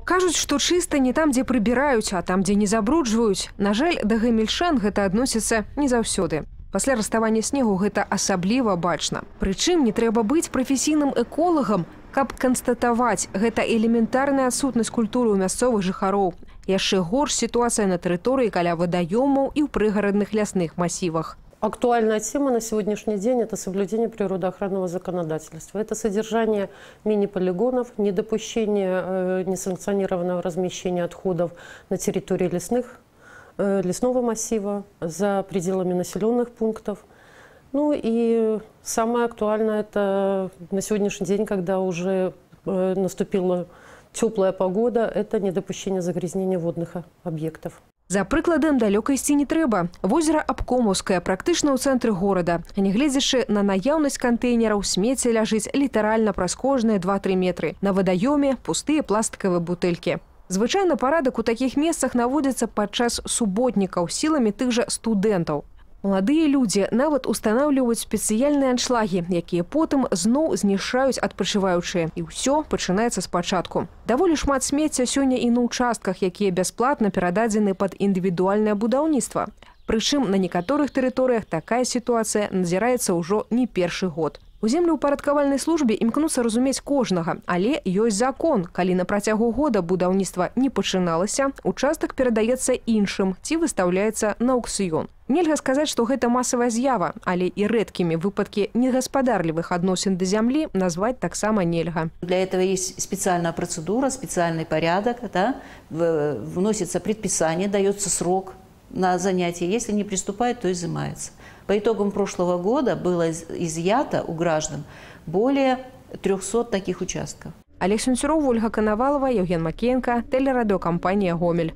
Кажуць, што чыста не там, дзе прыбіраюць, а там, дзе не забруджваюць. На жаль, да гамельчан гэта адносіцца не заўсёды. Пасля раставання снегу гэта асабліва бачна. Прычым не трэба быць прафесійным эколагам, каб канстатаваць, гэта элементарная адсутнасць культуры ў мясцовых жыхароў. Яшчэ горш сітуацыя на тэрыторыі каля вадаёмаў і ў прыгарадных лясных масівах. Актуальная тема на сегодняшний день – это соблюдение природоохранного законодательства. Это содержание мини-полигонов, недопущение несанкционированного размещения отходов на территории лесного массива, за пределами населенных пунктов. Ну и самое актуальное – это на сегодняшний день, когда уже наступила теплая погода, это недопущение загрязнения водных объектов. За прыкладам далёка ісці не трэба. Возера Абкомаўскае практычна ў цэнтры горада. Нягледзячы на наяўнасць кантэйнераў, смецце ляжыць літаральна праз кожныя 2-3 метры. На вадаёме пустыя пластыкавыя бутэлькі. Звычайна парадак у такіх месцах наводзіцца падчас суботнікаў сіламі тых жа студэнтаў. Маладыя людзі нават устанаўліваюць спецыяльныя аншлагі, якія потым зноў знішчаюць адпачываючыя. І ўсё пачынаецца спачатку. Даволі шмат смецця сёння і на ўчастках, якія бясплатна перададзены пад індывідуальнае будаўніцтва. Прычым на некаторых тэрыторыях такая сітуацыя назіраецца ўжо не першы год. У землеўпарадкавальнай службе імкнуцца разумець кожнага, але ёсць закон. Калі на працягу года будаўніцтва не пачыналася, участак перадаецца іншым ці выстаўляецца на аўкцыён. Нельга сказаць, што гэта масавая з'ява, але і рэдкімі выпадкі негаспадарлівых адносін да зямлі назваць таксама нельга. Для этого есть специальная процедура, специальный порядок, да? Вносится предписание, дается срок на занятие. Если не приступает, то изымается. По итогам прошлого года было изъято у граждан более 300 таких участков. Олег Сунцюров, Ольга Коновалова, Евген Макеенко, телерадиокомпания «Гомель».